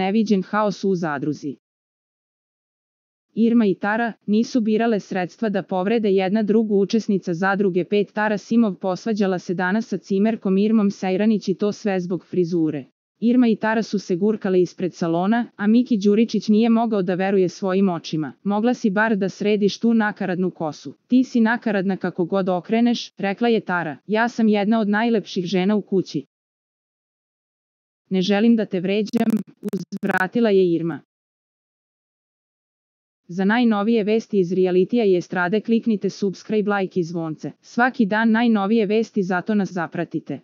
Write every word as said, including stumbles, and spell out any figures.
neviđen haos u zadruzi. Irma i Tara nisu birale sredstva da povrede jedna drugu. Učesnica zadruge pet Tara Simov posvađala se danas sa cimerkom Irmom Sejranić i to sve zbog frizure. Irma i Tara su se gurkale ispred salona, a Miki Đuričić nije mogao da veruje svojim očima. Mogla si bar da središ tu nakaradnu kosu. Ti si nakaradna kako god okreneš, rekla je Tara. Ja sam jedna od najlepših žena u kući. Ne želim da te vređam, uzvratila je Irma. Za najnovije vesti iz realitija i estrade kliknite subscribe, like i zvonce. Svaki dan najnovije vesti, zato nas zapratite.